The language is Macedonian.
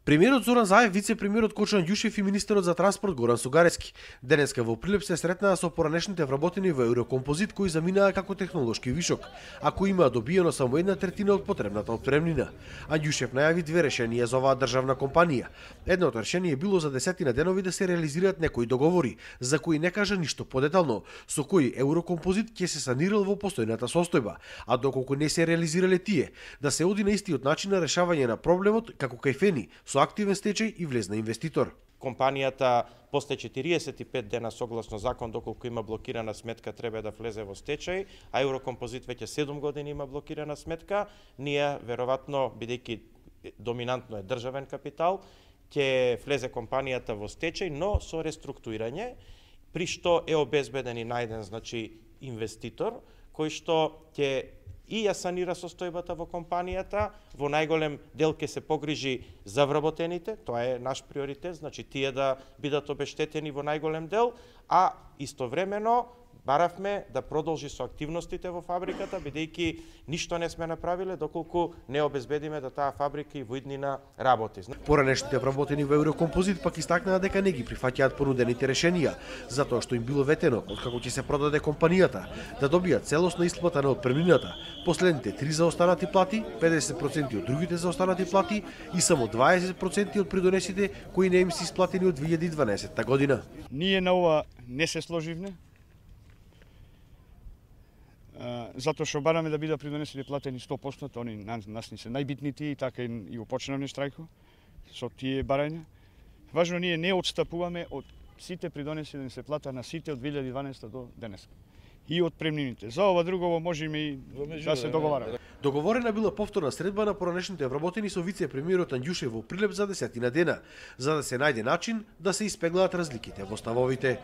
Премиерот Зоран Заев, вице-премиерот Кочо Анѓушев и министерот за транспорт Горан Сугаревски денеска во Прилеп се сретнаа со поранешните вработени во Еврокомпозит кои заминаа како технолошки вишок, а кои имаа добиено само 1/3 од потребната отпремнина. Анѓушев најави две решенија за оваа државна компанија. Едното решение било за 10 денови да се реализираат некои договори, за кои не кажа ништо подетално, со кои Еврокомпозит ќе се санирал во постојната состојба, а доколку не се реализирале тие, да се оди на истиот начин на решавање на проблемот како кај Фени, со активен стечај и влезна инвеститор. Компанијата после 45 дена согласно закон, доколку има блокирана сметка, треба да влезе во стечај, а Еврокомпозит веќе 7 години има блокирана сметка. Ние, веројатно, бидејќи доминантно е државен капитал, ќе влезе компанијата во стечај, но со реструктурирање, при што е обезбеден и најден, инвеститор, кој што ќе и ја санира состојбата во компанијата, во најголем дел ќе се погрижи за вработените, тоа е наш приоритет, тие да бидат обештетени во најголем дел, а истовремено баравме да продолжи со активностите во фабриката, бидејќи ништо не сме направиле доколку не обезбедиме да таа фабрика и во иднина работи. Поранешните вработени во Еврокомпозит пак истакнаа дека не ги прифаќаат понудените решенија, затоа што им било ветено откако ќе се продаде компанијата да добијат целосна исплата на отпремнината, последните 3 заостанати плати, 50% од другите заостанати плати и само 20% од придонесите кои не им се исплатени од 2012 година. Ние на ова не се сложивме, затоа што бараме да бидат придонесени платени 100%, они нас ни се најбитните и така и упочнавме штрајко со тие барања. Важно, ние не отстапуваме од сите придонеси да ни се плата на сите од 2012 до денес. И од премнините. За ова друго можеме и да се договараме. Договорена била повторна средба на поранешните вработени со вице-премиерот Анѓушев во Прилеп за 10 дена, за да се најде начин да се испеглаат разликите во ставовите.